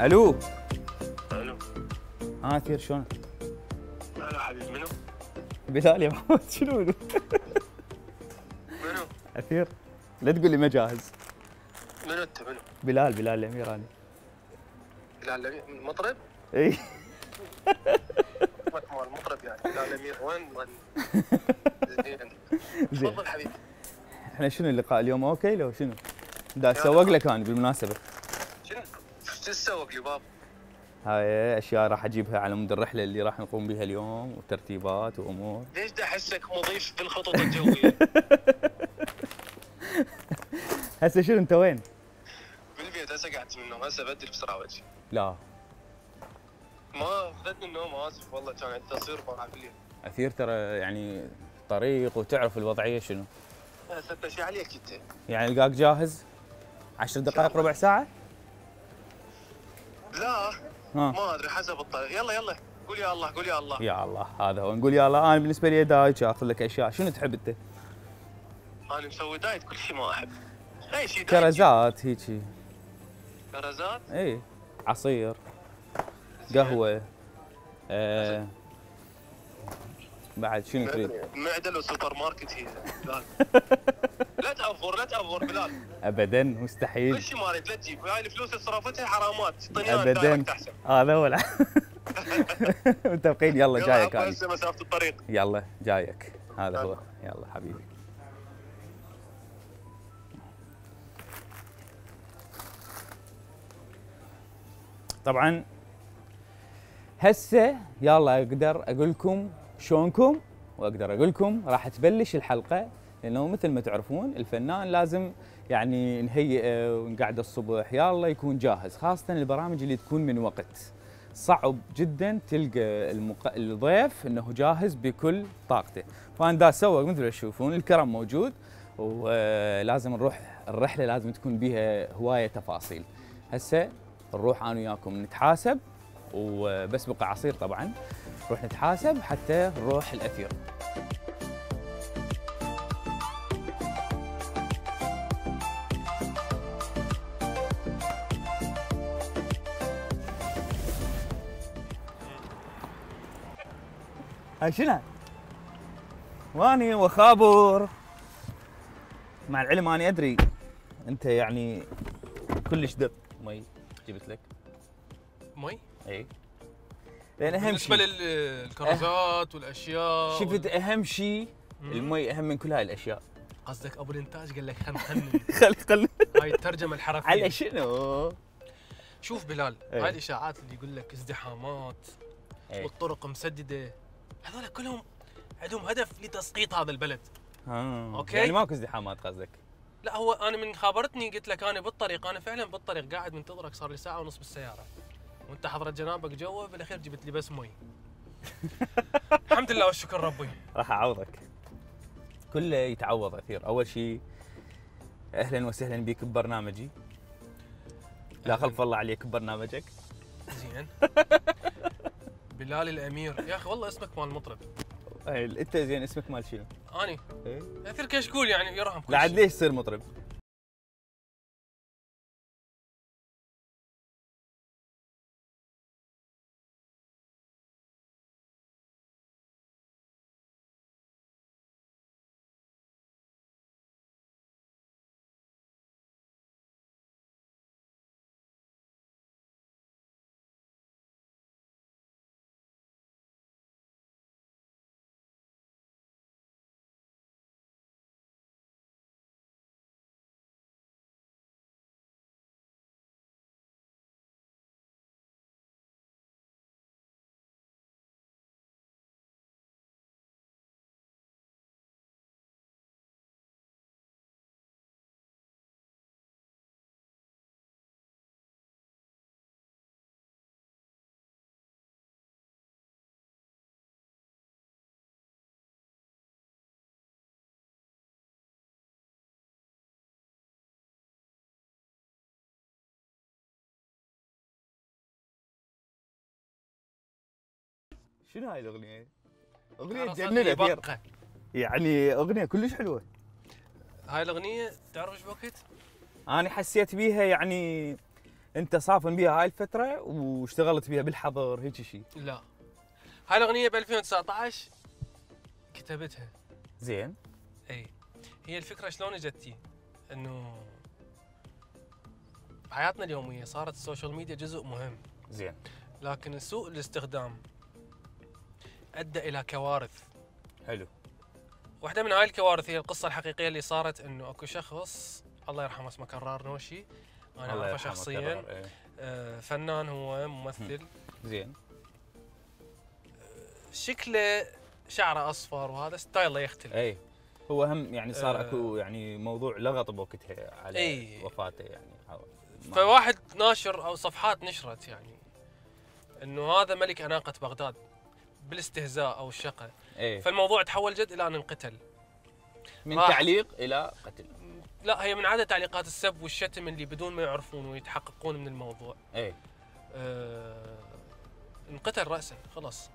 الو. الو. اثير شلونك؟ هلا حبيبي، منو؟ بلال يا محمد. شنو منو؟ اثير. لا تقول لي ما جاهز. منو انت منو؟ بلال الامير انا. بلال الامير المطرب؟ اي. اسمك مال المطرب يعني، بلال الامير وين؟ زين. زين. تفضل حبيبي. احنا شنو اللقاء اليوم اوكي لو شنو؟ دا اسوق لك انا بالمناسبة. شنو تسوق لي بابا؟ هاي اشياء راح اجيبها على مود الرحلة اللي راح نقوم بها اليوم وترتيبات وامور. ليش دا احسك مضيف بالخطط الجوية؟ هسه شنو انت وين؟ بالبيت هسه قعدت من النوم، هسه بدري بسرعة وجهي. لا. ما اخذتني النوم، اسف والله، كان عندي تصوير طالع بالليل. اثير ترى يعني طريق وتعرف الوضعية شنو؟ هسه شي عليك انت؟ يعني القاك جاهز؟ 10 دقائق ربع ساعة؟ لا ما ادري حسب الطريق. يلا قول يا الله، قول يا الله. يا الله هذا هو، نقول يا الله. انا بالنسبة لي دايتش اخذ لك اشياء. شنو تحب انت؟ انا مسوي دايت، كل شيء ما احب. اي شيء دايت. كرزات هيجي. كرزات؟ اي. عصير. قهوة. بعد شنو تريد؟ معدل وسوبر ماركت هي بلال. لا تأفور بلال. ابدا مستحيل. كل شيء ما اريد لا تجيب، هاي الفلوس اللي صرفتها حرامات، اعطيني ابدا. هذا هو. متفقين. يلا جايك انا. هسه مسافة الطريق. يلا جايك. هذا هو. يلا حبيبي. طبعا هسه يلا اقدر اقول لكم شلونكم، واقدر اقول لكم راح تبلش الحلقه، لانه مثل ما تعرفون الفنان لازم يعني نهيئه ونقعد الصبح يلا يكون جاهز، خاصه البرامج اللي تكون من وقت. صعب جدا تلقى الضيف انه جاهز بكل طاقته، فانا دا اسوق مثل ما تشوفون الكرم موجود، ولازم نروح الرحله لازم تكون بها هوايه تفاصيل. هسه نروح انا وياكم نتحاسب، وبس بقى عصير طبعا، نروح نتحاسب حتى نروح الاثير. هاي شنو؟ واني وخابر. مع العلم اني ادري انت يعني كلش دب مي جبت لك. مي؟ اي. لان اهم شيء بالنسبه للكرزات والاشياء شفت اهم شيء المي اهم من كل هاي الاشياء. قصدك ابو الانتاج قال لك خل خلي هاي الترجمه الحرفيه. على شنو؟ شوف بلال، ايه. هاي الاشاعات اللي يقول لك ازدحامات ايه. والطرق مسدده، هذول كلهم عندهم هدف لتسقيط هذا البلد. اوكي، يعني ماكو ازدحامات قصدك؟ لا هو انا من خابرتني قلت لك انا بالطريق، انا فعلا بالطريق قاعد منتظرك صار لي ساعه ونص بالسياره، وانت حضرت جنابك جوا، بالاخير جبت لي بس مي. الحمد لله والشكر ربي. راح اعوضك. كله يتعوض اثير. اول شيء اهلا وسهلا بك ببرنامجي. لا خلف الله عليك ببرنامجك. زين. بلال الامير، يا اخي والله اسمك مال المطرب. انت زين اسمك مال شنو؟ اني ايه؟ اثير كشكول يعني يرحم كل لا عاد شيء. ليش تصير مطرب؟ شنو هاي الاغنيه؟ اغنيه عرصتني تجنن اثير، بقة. يعني اغنيه كلش حلوه. هاي الاغنيه تعرف ايش وقت؟ انا حسيت بيها يعني انت صافن بيها هاي الفتره واشتغلت بيها بالحضر هيك شيء. لا، هاي الاغنيه ب 2019 كتبتها. زين. اي، هي الفكره شلون اجتي؟ انه بحياتنا اليوميه صارت السوشيال ميديا جزء مهم، زين. لكن سوء الاستخدام ادى الى كوارث. حلو. واحده من هاي الكوارث هي القصه الحقيقيه اللي صارت، انه اكو شخص الله يرحمه اسمه كرار نوشي، انا الله اعرفه يرحمه شخصيا. كرار، إيه. فنان، هو ممثل. زين. شكله شعره اصفر وهذا ستايله يختلف. اي هو هم يعني صار اكو يعني موضوع لغط بوقتها على إي. وفاته يعني. فواحد ناشر او صفحات نشرت يعني انه هذا ملك اناقه بغداد بالاستهزاء او الشقه. اي. فالموضوع تحول جد الى ان انقتل. من تعليق الى قتل. لا، هي من عدد تعليقات السب والشتم اللي بدون ما يعرفون ويتحققون من الموضوع. اي. انقتل راسا خلاص.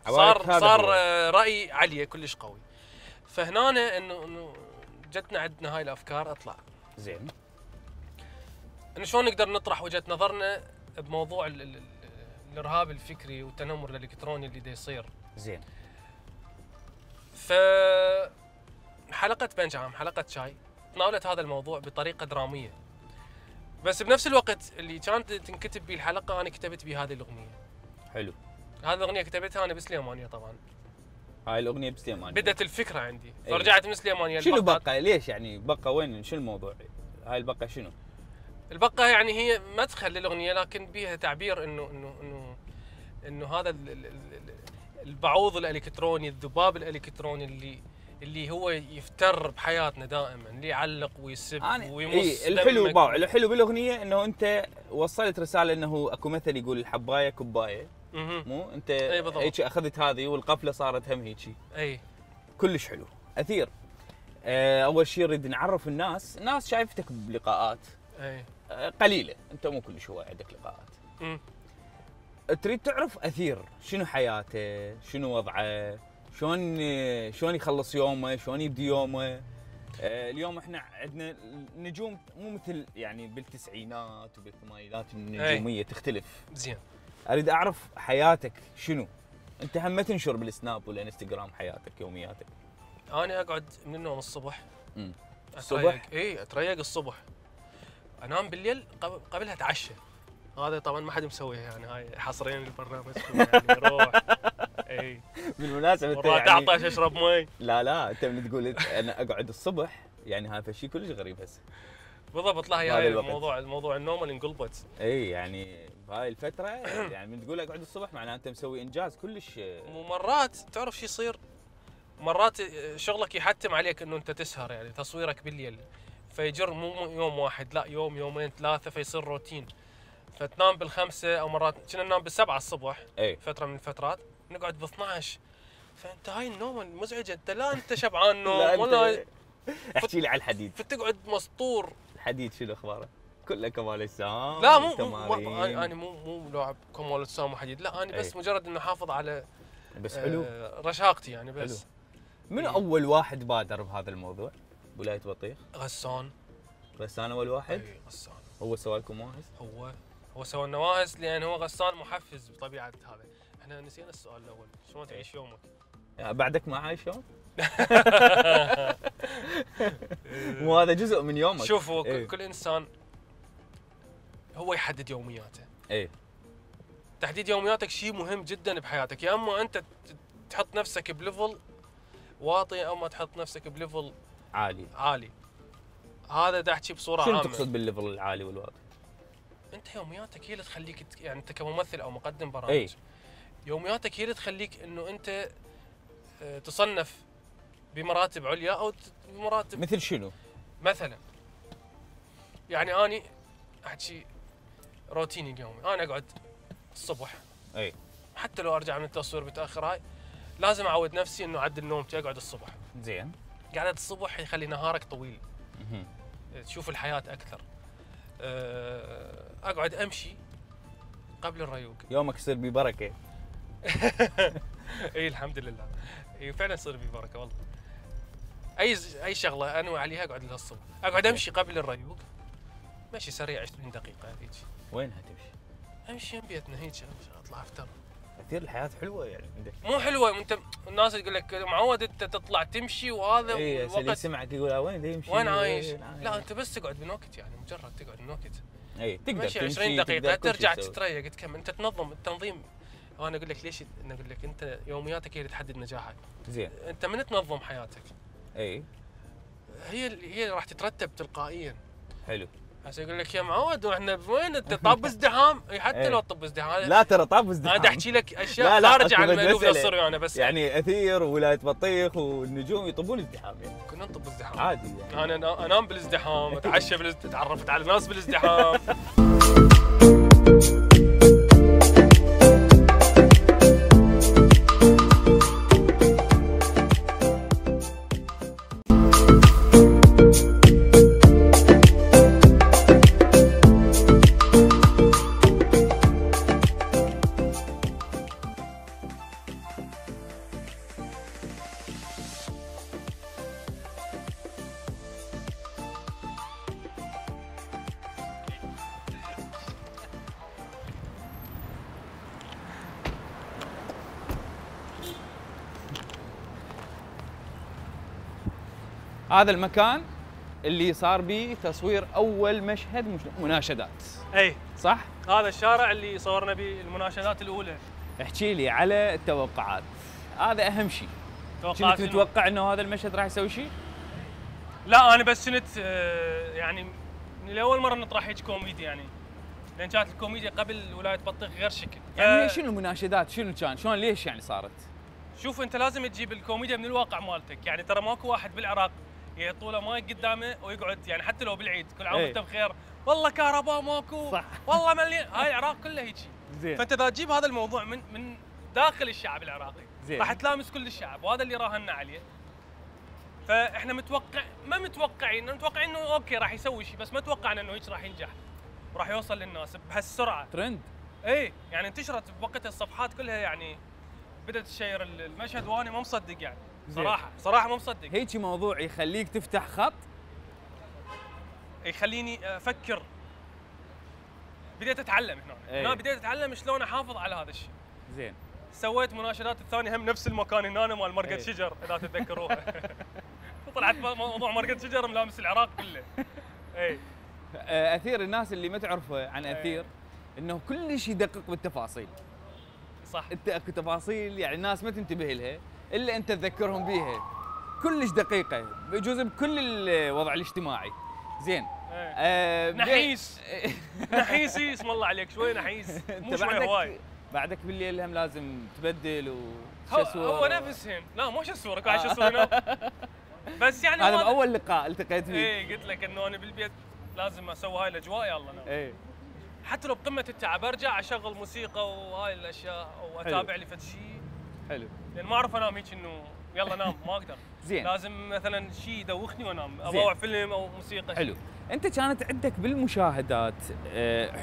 عوائق هذا صار هو. راي عليه كلش قوي. فهنا انه جتنا عندنا هاي الافكار اطلع. زين. انه شلون نقدر نطرح وجهه نظرنا بموضوع الارهاب الفكري والتنمر الالكتروني اللي دا يصير. زين. ف حلقه بنجام، حلقه شاي، تناولت هذا الموضوع بطريقه دراميه. بس بنفس الوقت اللي كانت تنكتب به الحلقه انا كتبت به هذه الاغنيه. حلو. هذه الاغنيه كتبتها انا بسليمانيه طبعا. هاي الاغنيه بسليمان. بدت الفكره عندي، أيوة. فرجعت من سليمانيه. شنو بقى؟ ليش يعني بقى؟ وين شنو الموضوع؟ هاي البقى شنو؟ البقه يعني هي مدخل للاغنيه، لكن بيها تعبير انه هذا البعوض الالكتروني، الذباب الالكتروني اللي هو يفتر بحياتنا دائما، اللي يعلق ويسب ويمص. إيه الحلو باع، الحلو بالاغنيه انه انت وصلت رساله انه اكو مثل يقول الحبايه كبايه. مو انت هيك اخذت هذه والقفله صارت هم هيك. اي كلش حلو اثير. اول شيء نريد نعرف الناس شايفتك بلقاءات اي قليله، انت مو كلش هو عندك لقاءات. تريد تعرف اثير شنو حياته، شنو وضعه، شلون يخلص يومه، شلون يبدي يومه. اليوم احنا عندنا نجوم مو مثل يعني بالتسعينات وبالثمانينات، النجوميه تختلف. زين. اريد اعرف حياتك شنو. انت هم ما تنشر بالسناب والانستغرام حياتك يومياتك. انا اقعد من النوم الصبح. الصبح؟ اي اتريق الصبح، انام بالليل قبلها اتعشى. هذا طبعا ما حد مسويها يعني، هاي حصريا للبرنامج يعني روح. اي بالمناسبه انت يعني تعطش اشرب مي. لا انت من تقول انا اقعد الصبح يعني هذا شيء كلش غريب هسه. بالضبط. لا هي الموضوع النوم اللي انقلبت. اي يعني بهاي الفتره يعني من تقول اقعد الصبح معناته انت مسوي انجاز كلش. ومرات تعرف شو يصير؟ مرات شغلك يحتم عليك انه انت تسهر، يعني تصويرك بالليل، فيجر مو يوم واحد، لا يوم يومين ثلاثه، فيصير روتين. فتنام بالخمسه او مرات كنا ننام بالسبعه الصبح. أي. فتره من الفترات نقعد ب 12. فانت هاي النوم المزعجه، انت لا انت شبعان نوم ولا احكي لي على الحديد. فتقعد مسطور. الحديد شنو اخباره؟ كله كمال اجسام. لا انا مو لاعب كمال اجسام وحديد، لا انا بس مجرد انه احافظ على بس حلو رشاقتي يعني بس. حلو. من اول واحد بادر بهذا الموضوع ولايه بطيخ؟ غسان اول واحد؟ اي غسان. هو سوى لكم واهس؟ هو سوى النواهس لان هو غسان محفز بطبيعه هذا. احنا نسينا السؤال الاول، شلون تعيش يومك؟ بعدك ما عايش يوم؟ مو هذا جزء من يومك. شوفوا كل انسان هو يحدد يومياته. اي تحديد يومياتك شيء مهم جدا بحياتك، يا اما انت تحط نفسك بليفل واطي او ما تحط نفسك بليفل عالي. هذا دا احكي بصوره عامه. شنو تقصد بالليفل العالي والواطي؟ انت يومياتك هي اللي تخليك يعني انت كممثل او مقدم برامج، يومياتك هي اللي تخليك انه انت تصنف بمراتب عليا او بمراتب. مثل شنو؟ مثلا يعني اني احكي روتيني اليومي، انا اقعد الصبح حتى لو ارجع من التصوير متاخر، هاي لازم اعود نفسي انه اعدل نومتي، اقعد الصبح. زين. قعدة الصبح يخلي نهارك طويل، تشوف الحياه اكثر. اقعد امشي قبل الريوق، يومك يصير ببركه. اي الحمد لله. اي فعلا يصير في بركه والله. اي شغله انوي عليها اقعد لها الصبح، اقعد امشي قبل الريوق، مشي سريع 20 دقيقه هيك. وينها تمشي؟ امشي يم بيتنا هيك اطلع افطر. كثير الحياه حلوه يعني عندك. مو حلوه، انت الناس تقول لك معود انت تطلع تمشي وهذا اي اللي يسمعك يقول وين يمشي؟ وين عايش؟ لا انت بس تقعد من وقت، يعني مجرد تقعد من وقت. اي تقدر تمشي 20 دقيقه ترجع تتريق تكمل. انت تنظم التنظيم. وانا اقول لك ليش، انا اقول لك انت يومياتك هي اللي تحدد نجاحك. زين. انت من تنظم حياتك اي هي راح تترتب تلقائيا. حلو. هسه يقول لك يا معود واحنا وين انت طاب ازدحام؟ اي حتى لو طب ازدحام. لا ترى طاب ازدحام. انا احكي لك اشياء خارجه عن المألوف الصريح انا بس. يعني اثير وولايه بطيخ والنجوم يطبون ازدحام يعني. كنا نطب ازدحام عادي يعني. انا انام بالازدحام، اتعشى تعرفت على ناس بالازدحام. هذا المكان اللي صار به تصوير اول مشهد مناشدات. اي صح؟ هذا الشارع اللي صورنا به المناشدات الاولى. احكي لي على التوقعات، هذا اهم شيء. كنت متوقع انه هذا المشهد راح يسوي شيء؟ لا انا بس كنت يعني من اول مره نطرح هيك كوميدي يعني، لان كانت الكوميديا قبل ولايه بطيخ غير شكل. يعني شنو المناشدات؟ شنو كان؟ شلون ليش يعني صارت؟ شوف انت لازم تجيب الكوميديا من الواقع مالتك، يعني ترى ماكو واحد بالعراق يعطوا له ماي قدامه ويقعد، يعني حتى لو بالعيد كل عام وانت بخير، والله كهرباء ماكو، صح والله مليان، هاي العراق كله هيك. زين. فانت اذا تجيب هذا الموضوع من داخل الشعب العراقي زين. راح تلامس كل الشعب، وهذا اللي راهنا عليه. فاحنا متوقعين انه اوكي راح يسوي شيء، بس ما توقعنا انه هيك راح ينجح وراح يوصل للناس بهالسرعه. ترند. اي يعني انتشرت بوقتها الصفحات كلها، يعني بدات تشير المشهد وانا ما مصدق يعني. صراحه ما مصدق. هيك موضوع يخليك تفتح خط، يخليني افكر. بديت اتعلم هنا بديت اتعلم شلون احافظ على هذا الشيء. زين. سويت مناشدات الثانيه هم نفس المكان هنا مال مرقد شجر اذا تتذكروها. طلعت موضوع مرقد شجر ملامس العراق كله. اي اثير الناس اللي ما تعرفه عن اثير انه كل شيء يدقق بالتفاصيل. صح. انت اكو تفاصيل يعني الناس ما تنتبه لها الا انت تذكرهم بيها، كلش دقيقه بجزء بكل الوضع الاجتماعي. زين. نحيس. نحيسي اسم الله عليك، شوي نحيس مو شوي هواي. بعدك بالليل هم لازم تبدل هو نفسهن. لا مو شسورك قاعد شسور هنا. بس يعني هذا اول لقاء التقيت فيه. اي قلت لك انه انا بالبيت لازم اسوي هاي الاجواء. يلا نام. اي حتى لو بقمه التعب ارجع اشغل موسيقى وهاي الاشياء واتابع لي فد شيء، حلو، لان ما اعرف انام هيك انه يلا نام ما اقدر. زين. لازم مثلا شيء يدوخني وانام، اضوع فيلم او موسيقى. حلو. انت كانت عندك بالمشاهدات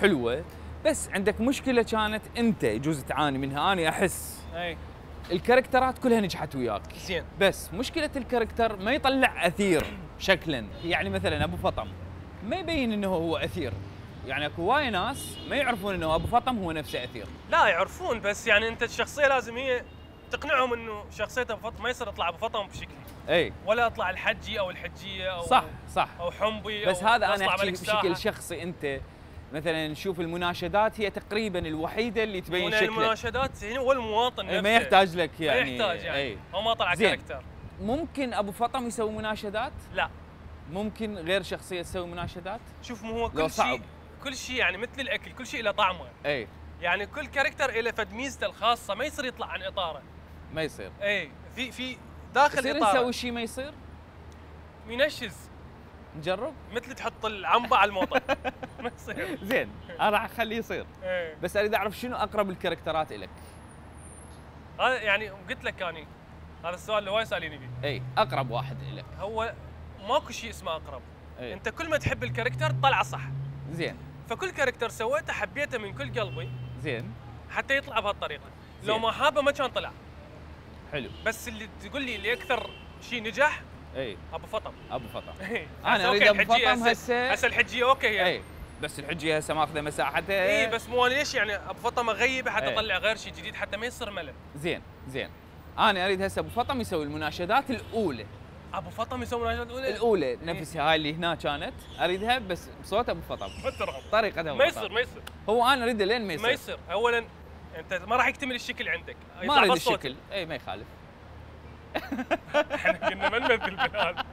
حلوه، بس عندك مشكله كانت انت يجوز تعاني منها. انا احس اي الكاركترات كلها نجحت وياك، زين، بس مشكله الكاركتر ما يطلع اثير شكلا. يعني مثلا ابو فطم ما يبين انه هو اثير، يعني اكو وايد ناس ما يعرفون انه ابو فطم هو نفسه اثير. لا يعرفون، بس يعني انت الشخصيه لازم هي تقنعهم انه شخصيه ابو فطم ما يصير اطلع ابو فطم بشكلي. اي ولا اطلع الحجي او الحجيه او صح او حنبي، بس أو هذا انا احكي بشكل شخصي. انت مثلا نشوف المناشدات هي تقريبا الوحيده اللي تبين شكلك. المناشدات هو المواطن نفسه، ما يحتاج لك يعني، ما يحتاج يعني هو ما طلع كاركتر. ممكن ابو فطم يسوي مناشدات؟ لا، ممكن غير شخصيه تسوي مناشدات. شوف مو هو كل شيء يعني مثل الاكل، كل شيء له طعمه. اي يعني كل كاركتر له فد ميزته الخاصه، ما يصير يطلع عن اطاره. ما يصير. اي في داخل يصير اطاره نسوي شيء ما يصير، ينشز. نجرب مثل تحط العنبه على الموطه. ما يصير. زين انا راح اخليه يصير. ايه. بس اريد اعرف شنو اقرب الكاركترات الك. هذا يعني قلت لك اني هذا السؤال اللي وايد ساليني فيه. اي اقرب واحد الك. هو ماكو شيء اسمه اقرب. أي. انت كل ما تحب الكاركتر طلعه صح. زين. فكل كاركتر سويته حبيته من كل قلبي. زين. حتى يطلع بهالطريقه. لو ما حابه ما كان طلع. حلو. بس اللي تقول لي اللي اكثر شيء نجح اي ابو فطم. ابو فطم. انا اريد ابو فطم هسه الحجيه اوكي يعني. اي بس الحجيه هسه ماخذه مساحتها. اي بس مو ليش يعني ابو فطم اغيبه حتى اطلع غير شيء جديد حتى ما يصير ملل. زين انا اريد هسه ابو فطم يسوي المناشدات الاولى. ابو فطم يسوي المناشدات الاولى نفسها هاي اللي هنا كانت اريدها بس بصوت ابو فطم. طريقه ابو فطم. ما يصير هو انا اريده لين ما يصير. اولا انت ما راح يكتمل الشكل عندك. ما اريد الشكل. اي ما يخالف. احنا قلنا ما نمثل بهذا.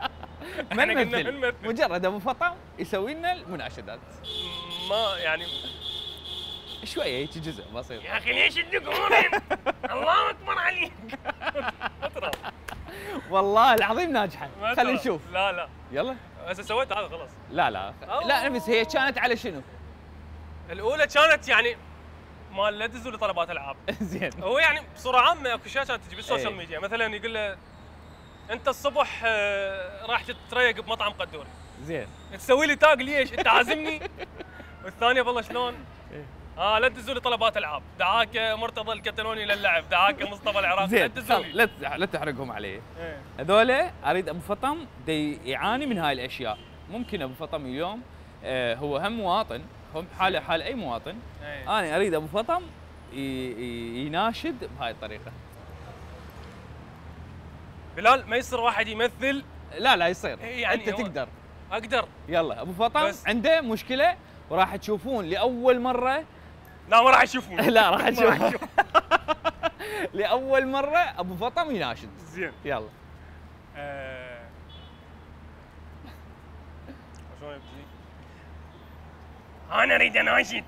ما نمثل. مجرد ابو فطم يسوي لنا المناشدات. ما يعني شويه هيك جزء بسيط. يا اخي ليش تدقون؟ الله اكبر عليك. والله العظيم ناجحه. خلينا نشوف. لا يلا هسه سويت هذا خلاص. لا بس هي كانت على شنو؟ الاولى كانت يعني مال لا تدزوا لي طلبات العاب. زين. هو يعني بصوره عامه اكو اشياء كانت تجي بالسوشيال ميديا، مثلا يقول له انت الصبح راح تتريق بمطعم قدوري. زين. تسوي لي تاج ليش؟ انت عازمني؟ والثانيه والله شلون؟ لا تدزوا لي طلبات العاب، دعاك مرتضى الكتالوني للعب، دعاك مصطفى العراقي. زين لا تحرقهم علي. هذول اريد ابو فطم يعاني من هاي الاشياء. ممكن ابو فطم اليوم هو هم مواطن، هم حال اي مواطن. انا اريد ابو فطم يناشد بهاي الطريقه. بلال ما يصير واحد يمثل. لا يصير. يعني انت تقدر. اقدر. يلا ابو فطم عنده مشكله وراح تشوفون لاول مره. لا ما راح يشوفون. لا راح تشوفون. لاول مره ابو فطم يناشد. زين. يلا. شلون يبتدي؟ انا اريد اناشد.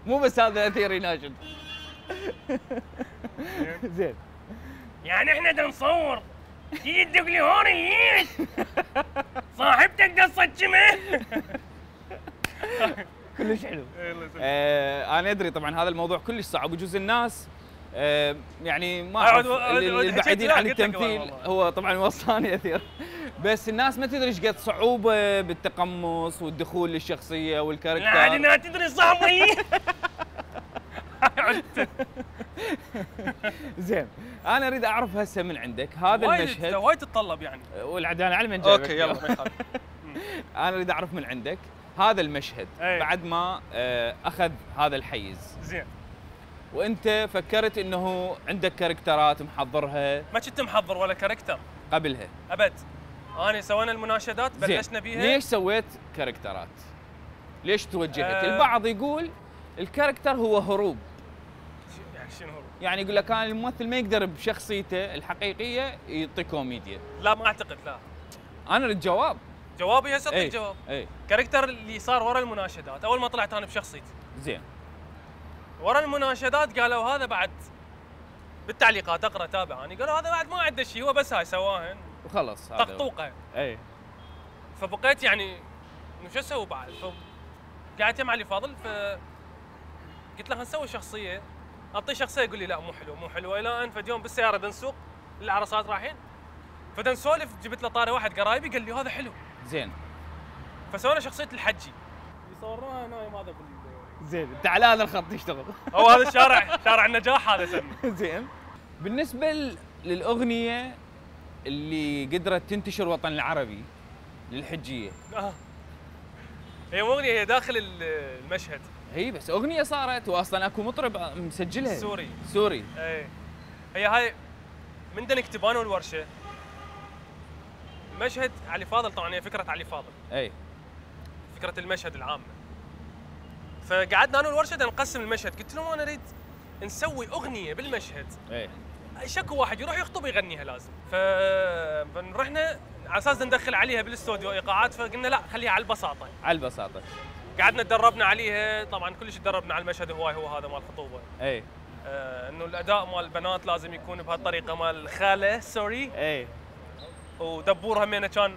مو بس هذا اثير يناشد. زين. يعني احنا دا نصور تيجي تدق لي هون ليش؟ صاحبتك قصة جمع. كلش حلو. انا ادري طبعا هذا الموضوع كلش صعب وجزء الناس يعني ما اعرف البعيدين عن التمثيل. هو طبعا وصاني اثير بس الناس ما تدري ايش قد صعوبه بالتقمص والدخول للشخصيه والكاركتر. لا عاد تدري صاحبي. زين انا اريد اعرف هسه من عندك هذا المشهد. وايد تتطلب يعني. والعدان على من جايبك. اوكي يلا ما يخالف. انا اريد اعرف من عندك هذا المشهد بعد ما اخذ هذا الحيز. زين. وانت فكرت انه عندك كاركترات محضرها. ما كنت محضر ولا كاركتر قبلها ابد. انا سوينا المناشدات بلشنا بيها. ليش سويت كاركترات؟ ليش توجهت؟ البعض يقول الكاركتر هو هروب. يعني شنو هروب؟ يعني يقول لك كان الممثل ما يقدر بشخصيته الحقيقيه يعطي كوميديا. لا ما اعتقد. لا انا اريد جواب. جوابي هسه اعطيك جواب. اي كاركتر اللي صار ورا المناشدات. اول ما طلعت انا بشخصيتي. زين. ورا المناشدات قالوا هذا بعد بالتعليقات اقرا تابع انا قالوا هذا بعد ما عنده شيء هو بس هاي سواهن وخلص طقطوقه. اي فبقيت يعني انه شو اسوي بعد؟ قعدت مع علي فاضل قلت له نسوي شخصيه. اعطيه شخصيه يقول لي لا مو حلوه الى ان فد يوم بالسياره بنسوق العرسات رايحين فدا نسولف جبت له طاري واحد قرايبي قال لي هذا حلو. زين. فسوينا شخصيه الحجي اللي صورناها هنا هذا زين تعال هذا الخط يشتغل. هو هذا شارع النجاح هذا سمي. زين. بالنسبه للاغنيه اللي قدرت تنتشر الوطن العربي للحجيه. هي مو اغنيه هي داخل المشهد. هي بس اغنيه صارت واصلا اكو مطرب مسجلها. سوري. اي هي هاي من نكتب انا والورشه. مشهد علي فاضل طبعا هي فكره علي فاضل. اي فكره المشهد العامه. فقعدنا انا والورشه نقسم المشهد قلت لهم انا اريد نسوي اغنيه بالمشهد. اي شكو واحد يروح يخطب يغنيها لازم. فرحنا على اساس ندخل عليها بالاستوديو ايقاعات فقلنا لا خليها على البساطه. على البساطه. قعدنا تدربنا عليها طبعا كلش تدربنا على المشهد هو هذا مال الخطوبه. اي انه الاداء مال البنات لازم يكون بهالطريقه مال الخاله سوري. اي ودبور همينه كان.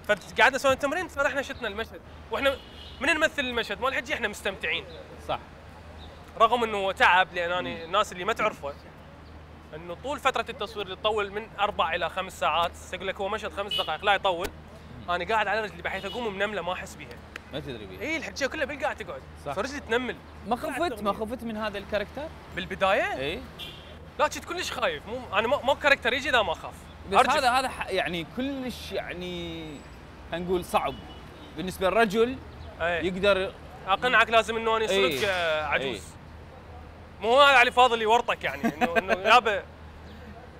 فقعدنا نسوي تمرين فرحنا شتنا المشهد واحنا من نمثل المشهد مال الحجي احنا مستمتعين. صح. رغم انه تعب لان انا الناس اللي ما تعرفه انه طول فتره التصوير اللي تطول من 4 الى 5 ساعات. يقول لك هو مشهد 5 دقائق لا يطول. انا قاعد على رجلي بحيث اقوم منمله ما احس بيها. ما تدري بيه. اي الحكايه كلها بالقاع تقعد، صح. فرجلي تنمل. ما خفت من هذا الكاركتر؟ بالبدايه؟ اي لا كنت كلش خايف، مو انا ما كاركتر يجي اذا ما اخاف. بس هذا يعني كلش يعني خلينا نقول صعب بالنسبه للرجل يقدر. اقنعك لازم انه انا صرت عجوز. مو هو علي فاضل يورطك يعني انه يابا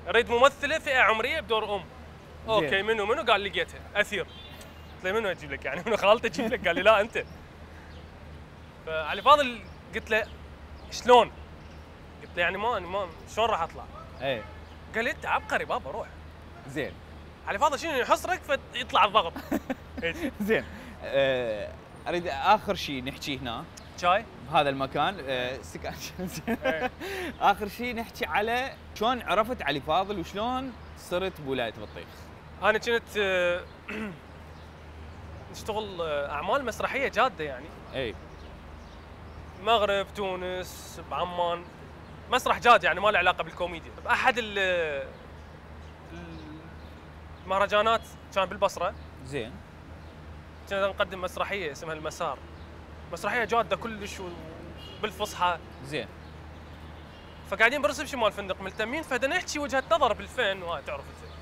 اريد ممثله فئه عمريه بدور ام. اوكي منو قال لقيتها اثير. قلت له منو اجيب لك يعني منو خالته اجيب لك؟ قال لي لا انت. فعلي فاضل قلت له شلون؟ قلت له يعني ما شلون راح اطلع؟ ايه قال لي انت عبقري بابا روح. زين علي فاضل شنو يحصرك فيطلع الضغط. زين اريد اخر شيء نحكي هنا شاي بهذا المكان استكان. اخر شيء نحكي على شلون عرفت علي فاضل وشلون صرت بولايه بطيخ. انا كنت نشتغل اعمال مسرحيه جاده يعني. اي المغرب، تونس، بعمان، مسرح جاد يعني ما له علاقه بالكوميديا. باحد المهرجانات كان بالبصره. زين. كنا نقدم مسرحيه اسمها المسار. مسرحيه جاده كلش بالفصحى. زين. فقاعدين بالريسبشن مال الفندق ملتمين، فبدنا نحكي وجهه نظر بالفن وتعرف انت.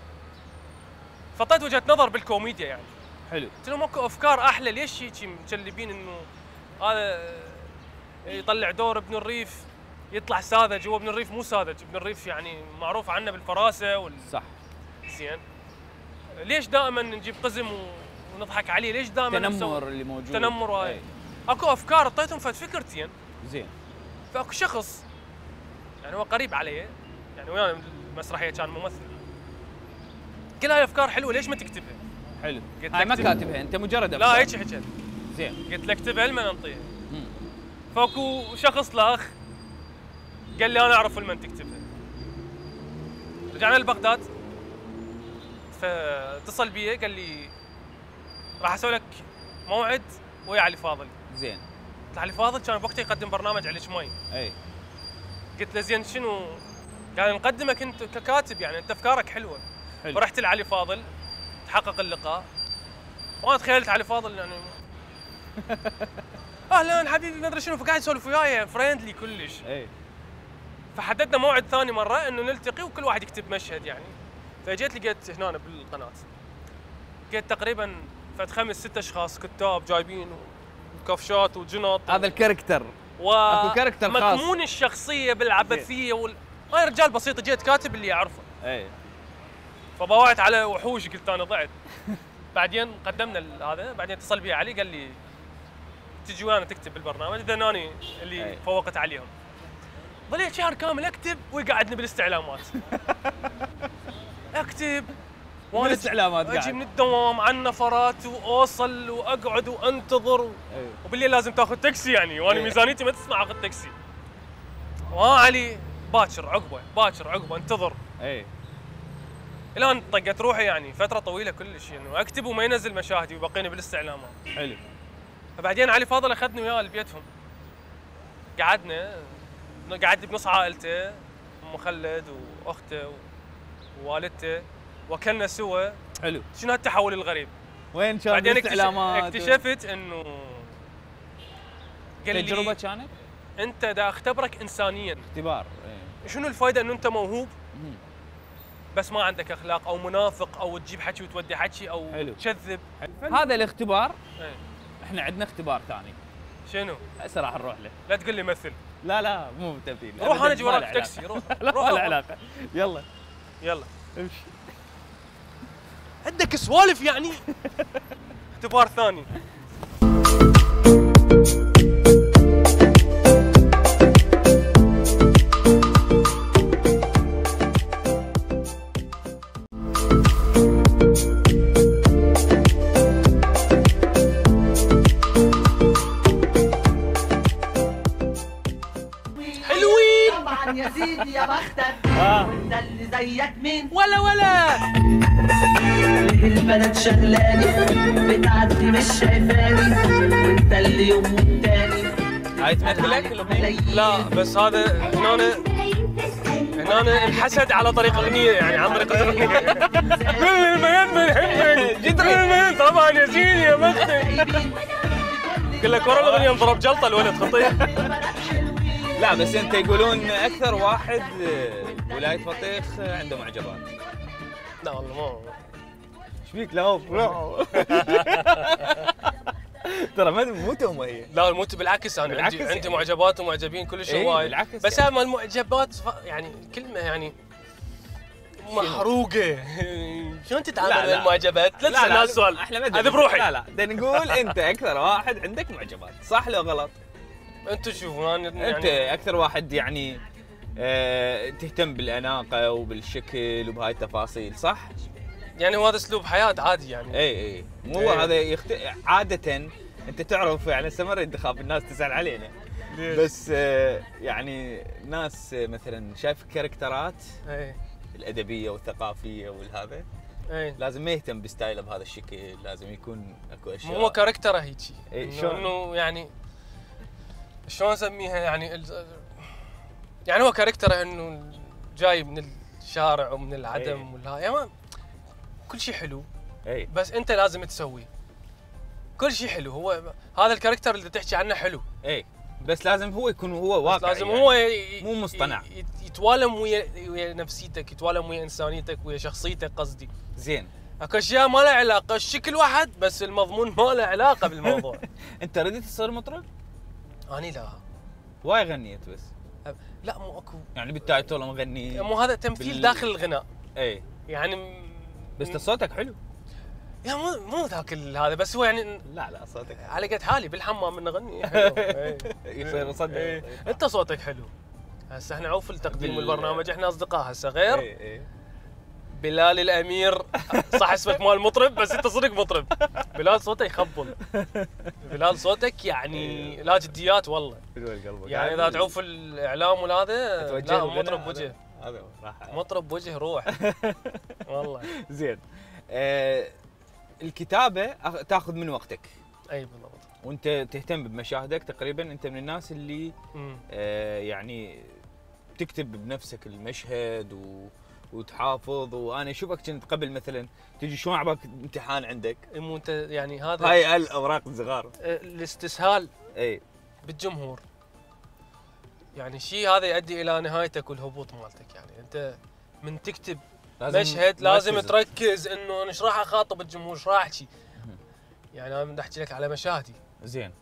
فطيت وجهه نظر بالكوميديا يعني. حلو. قلت لهم ماكو افكار احلى؟ ليش هيك مكلبين انه هذا يطلع دور ابن الريف يطلع ساذج؟ هو ابن الريف مو ساذج، ابن الريف يعني معروف عنه بالفراسه صح. زين. ليش دائما نجيب قزم ونضحك عليه؟ ليش دائما التنمر اللي موجود؟ تنمر وهاي. اكو افكار اعطيتهم فكرتين. زين. فاكو شخص يعني هو قريب علي يعني ويانا المسرحيه كان ممثل. قال هاي افكار حلوه ليش ما تكتبها؟ حلو. هاي ما كاتبها انت مجرد افكار. لا هيك حكيت. زين. قلت له اكتبها لمن انطيها. فاكو شخص الاخ قال لي انا اعرف لمن تكتبها. رجعنا لبغداد فاتصل بي قال لي راح اسوي لك موعد ويا علي فاضل. زين. قلت علي فاضل كان بوقتها يقدم برنامج على شمي. اي. قلت له زين شنو؟ قال نقدمك انت ككاتب يعني انت افكارك حلوه. حلو. فرحت لعلي فاضل تحقق اللقاء وانا تخيلت علي فاضل يعني اهلا حبيبي ما ادري شنو، فقاعد يسولف وياي فريندلي كلش. اي. فحددنا موعد ثاني مره انه نلتقي وكل واحد يكتب مشهد يعني. فجيت لقيت هنا بالقناه لقيت تقريبا فد 5-6 اشخاص كتاب جايبين وكفشات وجنط. هذا الكاركتر اكو كاركتر خاص مكمون الشخصيه بالعبثيه انا رجال بسيط جيت كاتب اللي اعرفه. اي. فباوعت على وحوش قلت انا ضعت. بعدين قدمنا هذا، بعدين اتصل بي علي قال لي تجي ويانا تكتب بالبرنامج. اذا اني اللي فوقت عليهم. ظليت شهر كامل اكتب ويقعدني بالاستعلامات. اكتب وانا الاستعلامات اجي من الدوام عن نفرات واوصل واقعد وانتظر وبالليل لازم تاخذ تاكسي يعني وانا ميزانيتي ما تسمع اخذ تاكسي. علي باكر عقبه انتظر. اي. الان طقت روحي يعني فتره طويله كلش انه يعني اكتب وما ينزل مشاهدي ويبقيني بالاستعلامات. حلو. فبعدين علي فاضل اخذني وياه لبيتهم. قعدت بنص عائلته ام خلد واخته ووالدته وكلنا سوا. حلو. شنو هالتحول الغريب؟ وين كان بعدين الاستعلامات؟ اكتشفت انه قال لي تجربه كانت؟ انت دا اختبرك انسانيا. اختبار. شنو الفائده انه انت موهوب بس ما عندك اخلاق او منافق او تجيب حكي وتودي حكي او تكذب. هذا الاختبار. احنا عندنا اختبار ثاني. شنو؟ هسه راح نروح له. لا تقول لي مثل. لا مو تمثيل. روح انا اجي وراك تاكسي. روح. لا لا علاقه. يلا امشي. عندك سوالف يعني؟ اختبار ثاني. يا سيدي يا بختك وانت اللي زيك مين ولا البنات شغلاني بتعدي مش شايفاني وانت اللي يوم والتاني. هاي تمثلك الاغنيه؟ لا بس هذا هنا الحسد على طريق اغنيه يعني عن طريق اغنيه. كل البنات بنحبك جدري طبعا يا سيدي يا بختك. لك ورا الاغنيه انضرب جلطه الولد خطير. لا بس انت يقولون اكثر واحد ولايه بطيخ عنده معجبات. لا والله مو ايش فيك؟ لا ترى مو تهمه هي. لا مو بالعكس، انا بالعكس عندي يعني. معجبات ومعجبين كل شيء إيه وايد. بالعكس بس يعني. هاي المعجبات يعني كلمه يعني محروقه. شلون تتعامل مع المعجبات؟ لا تسال هذا السؤال، احنا ما هذا بروحي. لا بدنا نقول انت اكثر واحد عندك معجبات، صح لو غلط؟ انتم شوفوا انا يعني انت اكثر واحد يعني تهتم بالاناقه وبالشكل وبهاي التفاصيل، صح؟ يعني هو هذا اسلوب حياه عادي يعني. اي مو إيه. هذا عاده انت تعرف يعني استمر انتخاب الناس تسال علينا. بس يعني ناس مثلا شايف كاركترات اي الادبيه والثقافيه والهذا اي لازم ما يهتم بستايله بهذا الشكل، لازم يكون اكو اشياء. هو كاركتره هيجي. إيه، شلون؟ انه يعني شلون اسميها يعني يعني هو كاركتره انه جاي من الشارع ومن العدم إيه. والها يعني كل شيء حلو، اي بس انت لازم تسويه. كل شيء حلو، هو هذا الكاركتر اللي تحكي عنه حلو، اي بس لازم هو يكون هو واقعي، لازم يعني. هو مو مصطنع. يتوالم ويا نفسيتك، يتوالم ويا انسانيتك ويا شخصيتك قصدي. زين اكو اشياء ما لها علاقه، الشكل واحد بس المضمون ما له علاقه بالموضوع. انت ردت تصير مطرب؟ اني لا واي غنيت بس لا مو اكو يعني بالتايتل مغني مو هذا تمثيل داخل الغناء اي يعني بس صوتك حلو. يا مو ذاك هذا، بس هو يعني لا صوتك على قد حالي بالحمام من اغني حلو. يصير صدق. انت صوتك حلو. هسه احنا عوف التقديم بال- والبرنامج، احنا اصدقاء هسه غير. اي بلال الامير صح اسمك مال مطرب بس انت صدق مطرب. بلال صوته يخبل. بلال صوتك يعني لا جديات والله. يعني اذا تعوف الاعلام وهذا لا مطرب بوجه. هذا راح مطرب بوجه روح. والله زين. الكتابه تاخذ من وقتك اي بالضبط. وانت تهتم بمشاهدك تقريبا، انت من الناس اللي يعني تكتب بنفسك المشهد وتحافظ. وانا اشوفك كنت قبل مثلا تجي شلون عباك امتحان عندك مو انت يعني هذا هاي الاوراق الصغار الاستسهال اي بالجمهور يعني شيء هذا يؤدي الى نهايتك والهبوط مالتك. يعني انت من تكتب مشهد لازم تركز انه انا ايش راح اخاطب الجمهور، ايش راح احكي. يعني انا بدي احكي لك على مشاهدي. زين.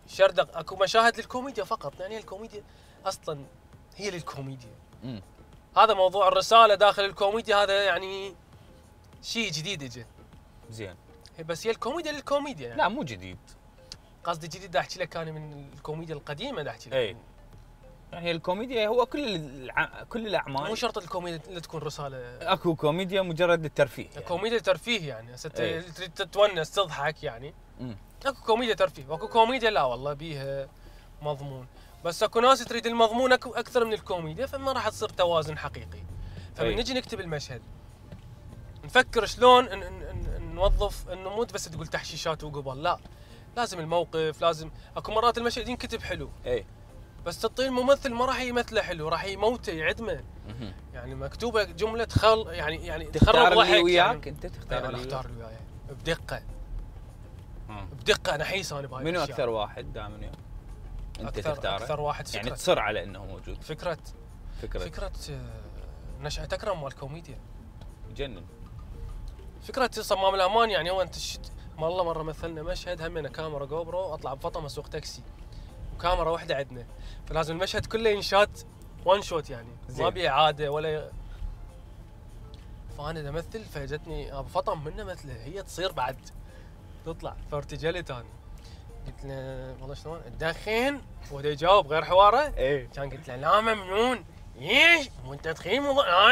شردق اكو مشاهد للكوميديا فقط، يعني الكوميديا اصلا هي للكوميديا. هذا موضوع الرساله داخل الكوميديا، هذا يعني شيء جديد اجى. زين. بس هي الكوميديا للكوميديا يعني. لا مو جديد، قصدي جديد بدي احكي لك انا من الكوميديا القديمه بدي احكي لك. اي يعني الكوميديا هو كل الاعمال، مو شرط الكوميديا اللي تكون رساله. اكو كوميديا مجرد للترفيه يعني. كوميديا ترفيه يعني هسه تريد تتونس تضحك يعني. مم. اكو كوميديا ترفيه واكو كوميديا لا والله بيها مضمون. بس اكو ناس تريد المضمون اكثر من الكوميديا، فما راح تصير توازن حقيقي. فمن نجي نكتب المشهد نفكر شلون نوظف انه مو بس تقول تحشيشات وقبل، لا لازم الموقف، لازم اكو مرات المشهد ينكتب حلو اي بس تعطيه الممثل ما راح يمثله حلو، راح يموته يعدمه. يعني مكتوبه جمله يعني تخرب ضحك اللي وياك يعني. انت تختار انا اختار اللي وياي بدقه. بدقه نحيس انا بهاي منو اكثر واحد دائما وياك انت تختاره؟ اكثر واحد يعني تصر على انه موجود. فكره نشأة اكرم مال الكوميديا جنن. فكره صمام الامان يعني هو انت والله مره مثلنا مشهد همنا كاميرا جو برو، اطلع بفطمه اسوق تاكسي وكاميرا واحده عندنا، فلازم المشهد كله ينشات وان شوت يعني ما بي اعاده ولا. فانا امثل فاجتني ابو فطم منه مثله هي تصير بعد تطلع، فارتجلت انا قلت له والله شلون تدخن؟ وهو يجاوب غير حواره. ايه كان قلت له لا ممنون. ايش وانت تدخين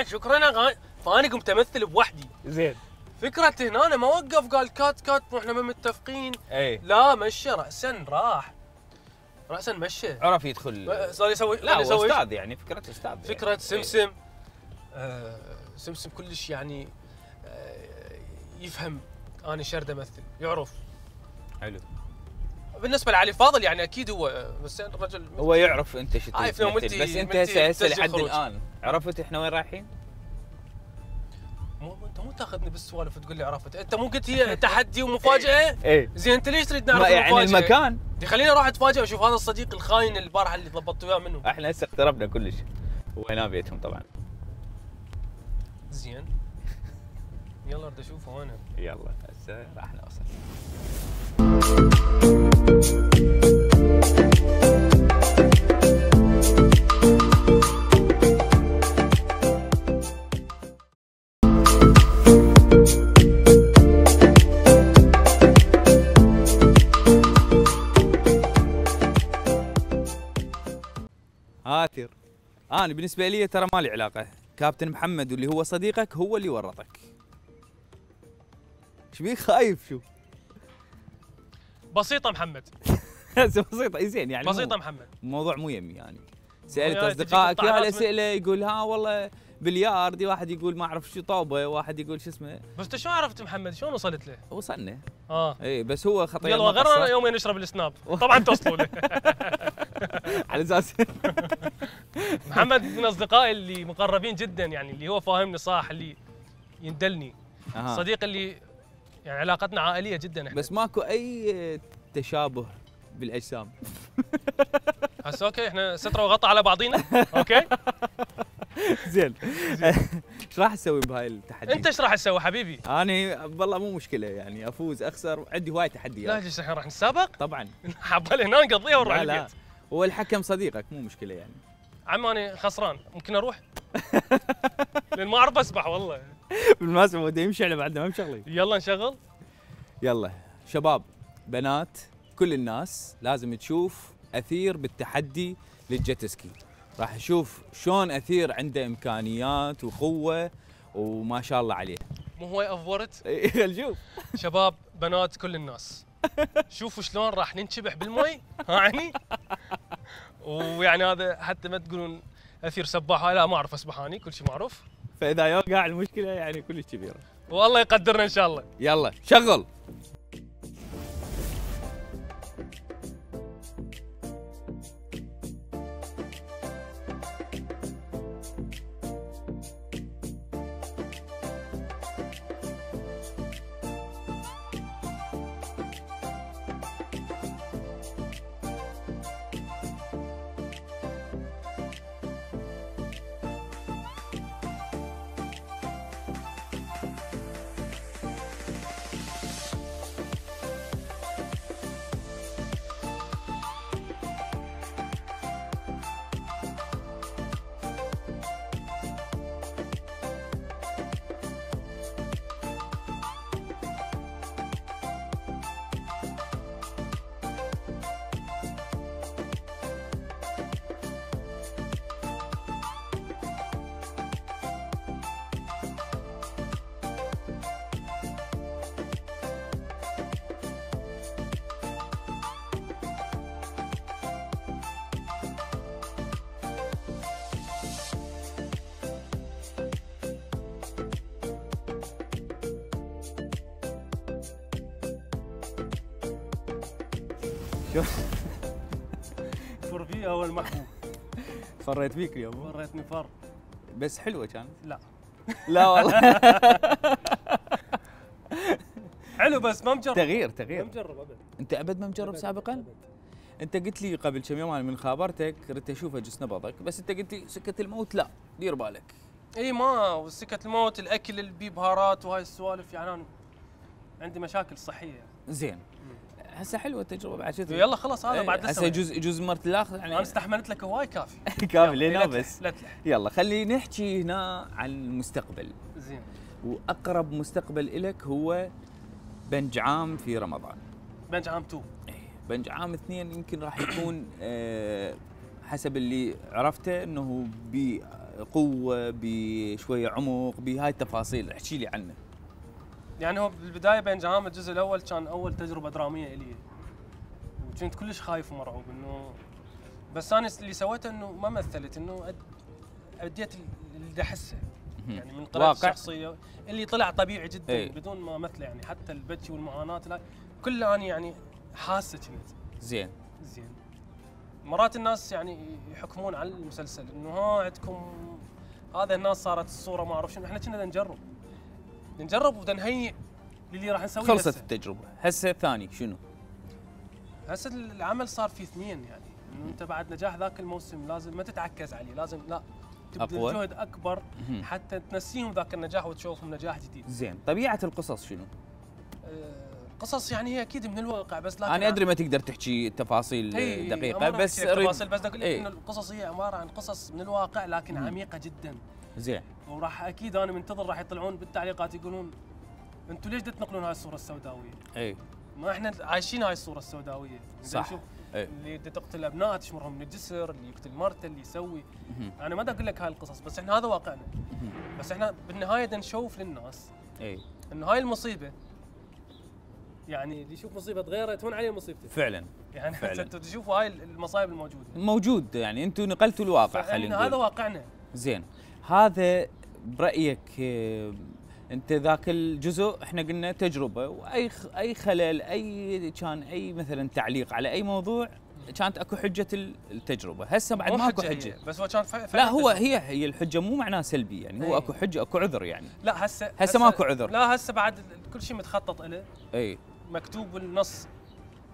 شكرا. فانا قمت امثل بوحدي. زين. فكرة هنا انا ما وقف قال كات واحنا ما متفقين. ايه لا مشى راسا راح راسا مشى عرف يدخل صار يسوي. لا هو استاذ يعني فكرة استاذ فكرة يعني. سمسم سمسم كلش يعني يفهم انا شرد امثل يعرف. حلو. بالنسبة لعلي فاضل يعني اكيد هو بس الرجل هو يعرف انت شو تمثل. بس انت هسه لحد الان عرفت احنا وين رايحين؟ انت مو تاخذني بالسوالف وتقول لي عرفت، انت مو قلت هي تحدي ومفاجاه؟ ايه زين انت ليش تريد نعرف يعني المفاجاه؟ المكان دي خليني اروح اتفاجئ واشوف هذا الصديق الخاين البارحه اللي ضبطت وياه منه. احنا هسه اقتربنا كلش وهنا بيتهم طبعا. زين يلا اريد اشوفه وين. يلا هسه راح نوصل. آثر، أنا بالنسبة لي ترى ما لي علاقة، كابتن محمد واللي هو صديقك هو اللي ورطك. ايش بيك خايف شو؟ بسيطه محمد. بسيطة زين يعني بسيطه محمد. الموضوع مو يمي يعني. سألت يعني أصدقائك تجيك يا الطعنات الأسئلة يقول ها والله بلياردي، واحد يقول ما أعرف شو طوبة، واحد يقول شو اسمه. بس انت شلون عرفت محمد؟ شلون وصلت له؟ وصلنا. اه اي بس هو خطير. يلا غير يومين نشرب السناب طبعا توصلوا له. على اساس محمد من اصدقائي اللي مقربين جدا، يعني اللي هو فاهمني صح، اللي يندلني. صديق اللي يعني علاقتنا عائليه جدا احنا. بس ماكو اي تشابه بالاجسام. هسه اوكي احنا ستره وغطى على بعضينا. اوكي زين. ايش راح تسوي بهاي التحدي؟ انت ايش راح تسوي حبيبي؟ انا والله مو مشكله يعني افوز اخسر، عندي هواي تحديات. لا ليش الحين راح نتسابق؟ طبعا. حبال هنا نقضيها ونروح لا لا البيت. هو الحكم صديقك مو مشكله يعني. عم انا خسران ممكن اروح؟ لان ما اعرف اسبح والله. بالمناسبه هو يمشي على بعدنا ما بشغله. يلا نشغل. يلا شباب بنات كل الناس لازم تشوف اثير بالتحدي للجيتسكي. راح نشوف شلون اثير عنده امكانيات وقوه وما شاء الله عليه. مو هو افورت؟ خل نشوف. شباب بنات كل الناس شوفوا شلون راح ننشبح بالمي. يعني ويعني هذا حتى ما تقولون اثير سباح، لا ما اعرف اسبح اني، كل شيء معروف. فاذا يوقع المشكله يعني كلش كبيره. والله يقدرنا ان شاء الله. يلا شغل. فر فيها هو المحبوب. فريت فيك اليوم. فريتني فر. بس حلوه كانت. لا لا والله. حلو بس ما مجرب. تغيير ما مجرب ابد. انت ابد ما مجرب سابقا؟ أبد. انت قلت لي قبل كم يوم انا من خابرتك ردت اشوف اجس نبضك، بس انت قلت لي سكه الموت لا دير بالك. اي ما وسكه الموت، الاكل اللي بيه بهارات وهاي السوالف، يعني انا عندي مشاكل صحيه. زين. هسه حلوه التجربه بعد شو يلا خلاص هذا بعد هسه يجوز مرت الاخر انا يعني. استحملت لك هواي كافي. كامل لينا لا بس. لا تلح. يلا خلينا نحكي هنا عن المستقبل. زين. واقرب مستقبل إلك هو بنج عام في رمضان. بنج عام 2. بنج عام 2 يمكن راح يكون حسب اللي عرفته انه بقوه بشويه عمق بهاي التفاصيل، احكي لي عنه. يعني هو بالبدايه بنج عام الجزء الاول كان اول تجربه دراميه الي، وكنت كلش خايف ومرعوب انه، بس انا اللي سويته انه ما مثلت، انه اديت اللي احسه يعني من طريقه الشخصيه اللي طلع طبيعي جدا. ايه. بدون ما مثله، يعني حتى البكي والمعاناه لا كله انا يعني حاسه كنت. زين. زين. مرات الناس يعني يحكمون على المسلسل انه ها عندكم هذا، الناس صارت الصوره ما اعرف شنو، احنا كنا نجرب. نجرب ونهيئ للي راح نسويه. خلصت هسه. التجربه، هسه الثاني شنو؟ هسه العمل صار فيه اثنين، يعني انه انت بعد نجاح ذاك الموسم لازم ما تتعكز عليه، لازم لا تبذل أقوى. جهد اكبر حتى تنسيهم ذاك النجاح وتشوفهم نجاح جديد. زين، طبيعه القصص شنو؟ قصص يعني هي اكيد من الواقع، بس لكن انا ادري ما تقدر تحكي تفاصيل دقيقه، بس اريد تفاصيل، بس اقول لك انه القصص هي عباره عن قصص من الواقع لكن عميقه جدا. زين. وراح اكيد انا منتظر راح يطلعون بالتعليقات يقولون انتم ليش تنقلون هاي الصوره السوداويه؟ اي ما احنا عايشين هاي الصوره السوداويه. صح. شوف أي. اللي تقتل ابنائه تشمرهم من الجسر، اللي يقتل مرته، اللي يسوي. انا ما دا اقول لك هاي القصص، بس احنا هذا واقعنا. بس احنا بالنهايه بدنا نشوف للناس اي انه هاي المصيبه، يعني اللي يشوف مصيبه غيره تهون عليه مصيبته. فعلا يعني فعلاً. انتم تشوفوا هاي المصايب الموجوده موجود، يعني انتم نقلتوا الواقع خلينا هذا نقول. واقعنا. زين، هذا برايك انت ذاك الجزء احنا قلنا تجربه، واي اي خلل، اي كان اي مثلا تعليق على اي موضوع كانت اكو حجه التجربه، هسه بعد مو ماكو حجة حجه. هي، بس هو كان لا هو هي الحجه مو معناه سلبي، يعني هو أي. اكو حجه، اكو عذر يعني. لا هسه ماكو عذر. لا هسه بعد كل شيء متخطط له، اي مكتوب بالنص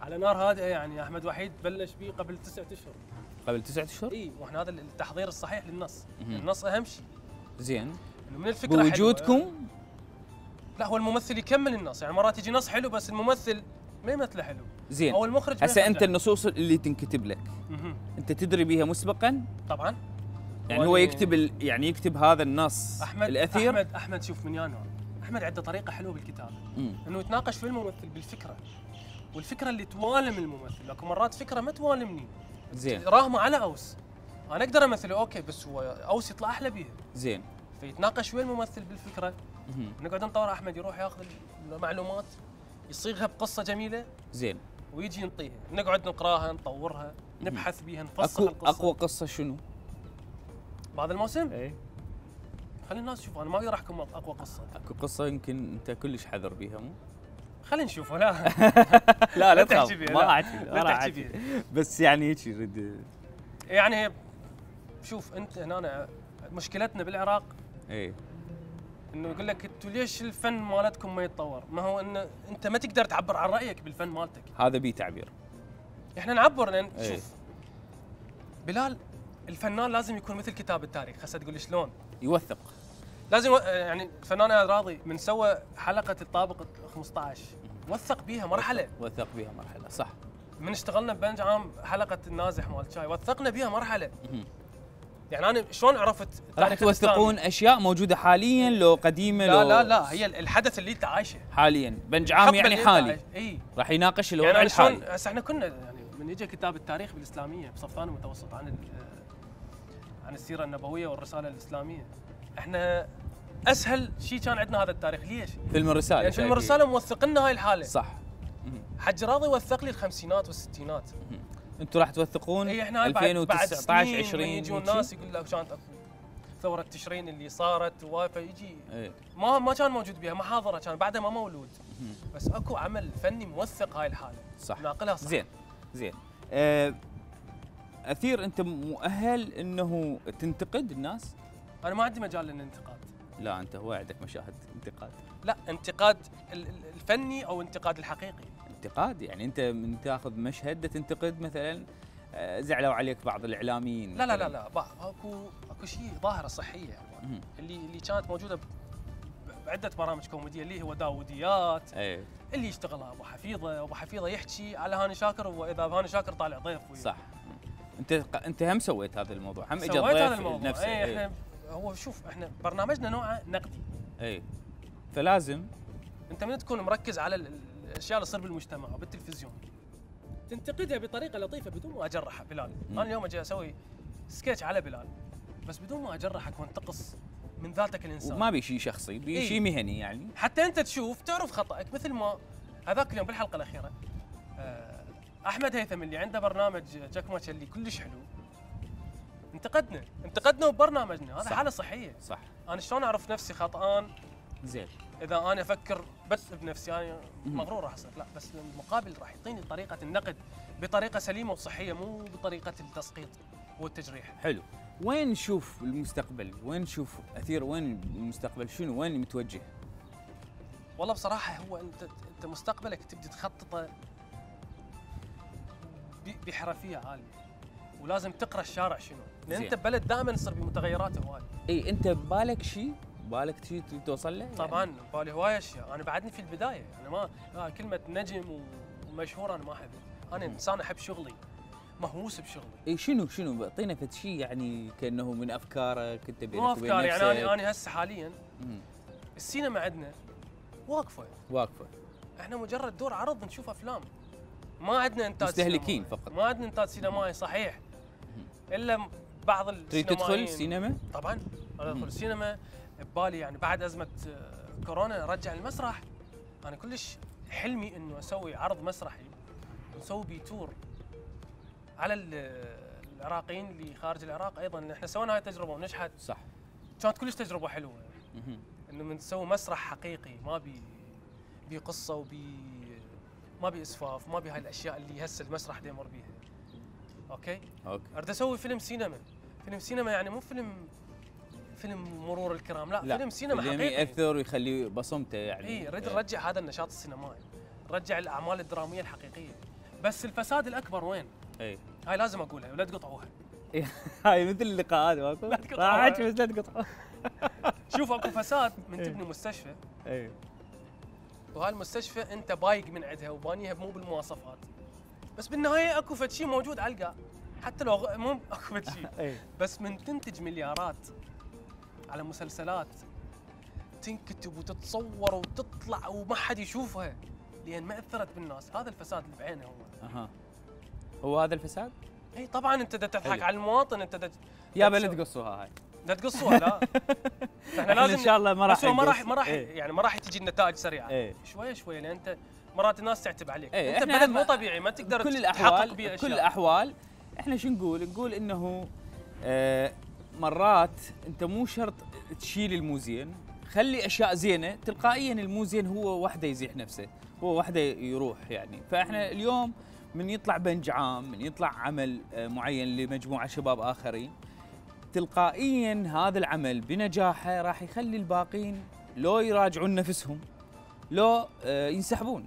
على نار هادئه. يعني احمد وحيد بلش بيه قبل 9 اشهر. قبل 9 اشهر. اي، واحنا هذا التحضير الصحيح للنص. النص اهم شيء. زين، انه من الفكره بوجودكم. حلوة. لا هو الممثل يكمل النص، يعني مرات يجي نص حلو بس الممثل ما يمثله حلو. زين، او المخرج ما هسه انت يخرجه. النصوص اللي تنكتب لك مهم. انت تدري بها مسبقا؟ طبعا. يعني هو يكتب يعني يكتب هذا النص الاثير. احمد شوف من يانو، احمد عنده طريقه حلوه بالكتابه، انه يتناقش في الممثل بالفكره، والفكره اللي توالم الممثل. لكن مرات فكره ما توالمني، زين راهمه على اوس، انا اقدر امثله اوكي، بس هو اوس يطلع احلى بيها. زين، فيتناقش ويا الممثل بالفكره. نقعد نطور، احمد يروح ياخذ المعلومات يصيغها بقصه جميله، زين، ويجي ينطيها، نقعد نقراها، نطورها، نبحث بيها، نفصل اكو القصه. اقوى قصه شنو؟ بهذا الموسم اي خلي الناس تشوف، انا ما اقدر احكم اقوى قصه. اكو قصه يمكن انت كلش حذر بيها مو؟ خلينا نشوف. لا لا لا تحكي تخاف، بيها، ما لا. راح احكي، لا ما راح تحكي احكي، بيها. بس يعني هيك يريد. يعني شوف انت هنا مشكلتنا بالعراق اي انه يقول لك انتوا ليش الفن مالتكم ما يتطور؟ ما هو انه انت ما تقدر تعبر عن رايك بالفن مالتك. هذا بي تعبير. احنا نعبر لان إيه. شوف بلال، الفنان لازم يكون مثل كتاب التاريخ. هسه تقول لي شلون؟ يوثق. لازم يعني الفنان اياد راضي من سوى حلقه الطابق 15 وثق بيها مرحله. وثق بيها مرحله، صح. من اشتغلنا ببنج عام حلقه النازح مال شاي وثقنا بيها مرحله. يعني انا شلون عرفت راح توثقون اشياء موجوده حاليا لو قديمه؟ لا لو لا لا، هي الحدث اللي انت عايشه حاليا بنج عام يعني حالي. اي راح يناقش الوضع يعني الحالي. هسه احنا كنا يعني من يجي كتاب التاريخ بالاسلاميه بصف ثاني متوسط عن السيره النبويه والرساله الاسلاميه، احنا اسهل شيء كان عندنا هذا التاريخ. ليش؟ فيلم الرساله. يعني فيلم الرساله موثق لنا هاي الحاله. صح. حج راضي وثق لي الخمسينات والستينات. انتم راح توثقون اي احنا 2019 20 يجون ناس يقول لك كانت اكو ثوره تشرين اللي صارت فيجي ايه. ما كان موجود بها محاضره، كان بعدها ما مولود. بس اكو عمل فني موثق هاي الحاله، صح، ناقلها صح. زين زين. اثير انت مؤهل انه تنتقد الناس؟ انا ما عندي مجال للانتقاد. لا انت هو عندك مشاهد انتقاد. لا، انتقاد الفني او انتقاد الحقيقي. انتقاد يعني انت من تاخذ مشهد تنتقد مثلا زعلوا عليك بعض الاعلاميين. لا لا لا لا، اكو شيء ظاهره صحيه اللي كانت موجوده بعده برامج كوميديه اللي هو داوديات. ايه. اللي يشتغلها ابو حفيظه، وابو حفيظه يحكي على هاني شاكر، واذا هاني شاكر طالع ضيف وياه. صح. انت هم سويت هذا الموضوع، هم اجى سويت هذا ضيف الموضوع. نفسه. ايه احنا هو شوف احنا برنامجنا نوعه نقدي. اي فلازم انت من تكون مركز على الاشياء اللي تصير بالمجتمع وبالتلفزيون تنتقدها بطريقه لطيفه بدون ما اجرحها. بلال، انا اليوم اجي اسوي سكتش على بلال بس بدون ما اجرحك وانتقص من ذاتك الانسان. وما بي شيء شخصي، بي شيء مهني يعني. حتى انت تشوف تعرف خطأك، مثل ما هذاك اليوم بالحلقه الاخيره احمد هيثم اللي عنده برنامج جاكماتش اللي كلش حلو انتقدنا ببرنامجنا. هذا حاله صحيه. صح. انا شلون اعرف نفسي خطأان؟ زين. اذا انا افكر بس بنفسي انا مغرور راح اصير. لا، بس المقابل راح يعطيني طريقه النقد بطريقه سليمه وصحيه، مو بطريقه التسقيط والتجريح. حلو. وين نشوف المستقبل؟ وين نشوف اثير؟ وين المستقبل؟ شنو وين متوجه؟ والله بصراحه هو انت مستقبلك تبدي تخططه بحرفيه عاليه، ولازم تقرا الشارع شنو، لان انت ببلد دائما يصير بمتغيرات هواي. اي انت ببالك شيء تريد توصل له؟ طبعا ببالي هواي اشياء، انا بعدني في البدايه، انا ما كلمه نجم ومشهور انا ما احب، انا انسان احب شغلي، مهووس بشغلي. اي شنو اعطينا فد شيء يعني كانه من افكارك انت بينك مو وبين افكار نفسك. يعني انا هسه حاليا السينما عندنا واقفه، احنا مجرد دور عرض نشوف افلام، ما عندنا انتاج مستهلكين سينمائي. فقط. ما عندنا انتاج سينمائي صحيح، الا بعض تريد السينمائيين. تدخل سينما؟ طبعا ادخل السينما ببالي، يعني بعد ازمه كورونا رجع المسرح. انا كلش حلمي انه اسوي عرض مسرحي ونسوي بيه تور على العراقيين اللي خارج العراق ايضا، لان احنا سوينا هاي التجربه ونجحت. صح. كانت كلش تجربه حلوه انه من نسوي مسرح حقيقي، ما بي قصه ما بي اسفاف، ما بي هاي الاشياء اللي هسه المسرح دا يمر بيها. اوكي اريد اسوي فيلم سينما. فيلم سينما يعني مو فيلم مرور الكرام، لا فيلم سينما حقيقي ياثر ويخلي بصمته يعني. اي نريد نرجع هذا النشاط السينمائي، نرجع الاعمال الدراميه الحقيقيه. بس الفساد الاكبر وين؟ هاي لازم اقولها ولا تقطعوها. هاي مثل اللقاءات ماكو؟ لا تقطعوها. بس لا تقطعوها. شوف اكو فساد من تبني مستشفى، وهاي المستشفى انت بايق من عندها وبانيها مو بالمواصفات، بس بالنهايه اكو فد شيء موجود على القاع، حتى لو مو اكو فد شيء. بس من تنتج مليارات على مسلسلات تنكتب وتتصور وتطلع وما حد يشوفها لان ما اثرت بالناس، هذا الفساد اللي بعينه هو. هو هذا الفساد؟ اي طبعا انت دا تضحك على المواطن، انت يا بلا تقصوها هاي. لا تقصوها لا. احنا لازم ان شاء الله ما راح يعني ما راح تجي النتائج سريعه. شويه شويه، لان انت مرات الناس تعتب عليك. انت بلد مو طبيعي ما تقدر تحقق بيه اشياء. كل الاحوال احنا شو نقول انه مرات انت مو شرط تشيل المو زين، خلي اشياء زينه، تلقائيا المو زين هو وحده يزيح نفسه، هو وحده يروح يعني. فاحنا اليوم من يطلع بنج عام، من يطلع عمل معين لمجموعه شباب اخرين، تلقائيا هذا العمل بنجاحه راح يخلي الباقين لو يراجعون نفسهم لو ينسحبون،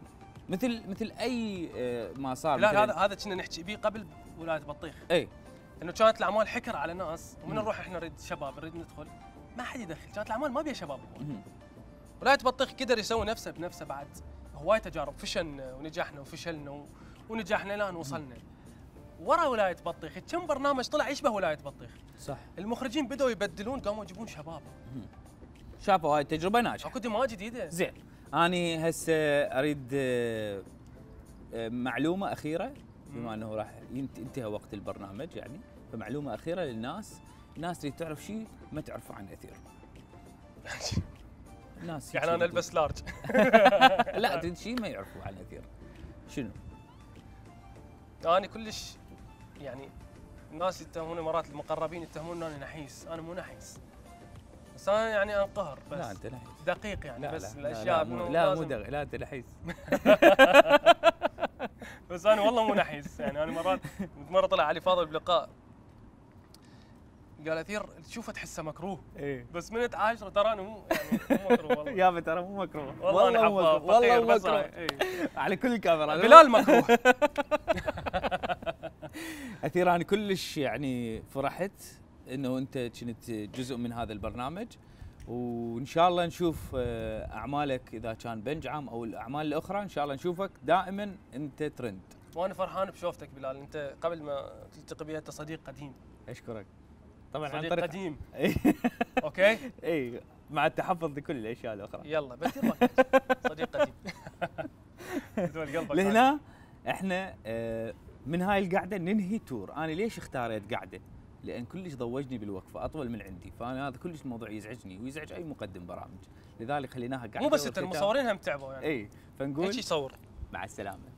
مثل اي ما صار. لا هذا كنا نحكي به قبل ولايه بطيخ. انه كانت الاعمال حكر على ناس، ومن نروح احنا نريد شباب نريد ندخل ما حد يدخل، كانت الاعمال ما بيها شباب. ولايه بطيخ قدر يسوي نفسه بنفسه بعد هواي تجارب، فشلنا ونجحنا وفشلنا ونجحنا لان وصلنا. ورا ولايه بطيخ كم برنامج طلع يشبه ولايه بطيخ. صح. المخرجين بدأوا يبدلون، قاموا يجيبون شباب. شافوا هاي التجربه ناجحه. اكو دماء جديده. زين. اني هسه اريد معلومه اخيره، بما انه راح ينتهي وقت البرنامج يعني، فمعلومه اخيره للناس، الناس تريد تعرف شيء ما تعرفه عن اثير. الناس يعني انا البس لارج. لا تريد شيء ما يعرفوا عن اثير. شنو؟ انا كلش يعني الناس يتهموني مرات، المقربين يتهمون اني نحيس، انا مو نحيس، بس انا يعني انقهر بس. لا انت نحيس دقيق يعني. لا بس لا الاشياء لا مو دقيق، لا انت نحيس. بس انا والله مو نحيس يعني. انا مره طلع علي فاضل بلقاء قال اثير تشوفه تحسه مكروه. بس من تعاشره ترى انا مو مكروه والله. يابا ترى مو مكروه والله انا حباب والله مو مكروه. على كل الكاميرا بلال مكروه. اثير انا كلش يعني فرحت انه انت كنت جزء من هذا البرنامج، وان شاء الله نشوف اعمالك اذا كان بنج عام او الاعمال الاخرى، ان شاء الله نشوفك دائما انت ترند. وانا فرحان بشوفتك بلال، انت قبل ما تلتقي بي انت صديق قديم. اشكرك. طبعا صديق عن طريق قديم. اوكي؟ اي مع التحفظ لكل الاشياء الاخرى. يلا بدي صديق قديم. بدون قلبك. لهنا احنا من هاي القعده ننهي تور. انا ليش اختاريت قعده؟ لان كلش ضوجني بالوقفه اطول من عندي، فانا هذا كلش موضوع يزعجني ويزعج اي مقدم برامج، لذلك خليناها قعده. مو بس انت المصورين هم تعبوا يعني. اي فنقول ايش يصور؟ مع السلامه.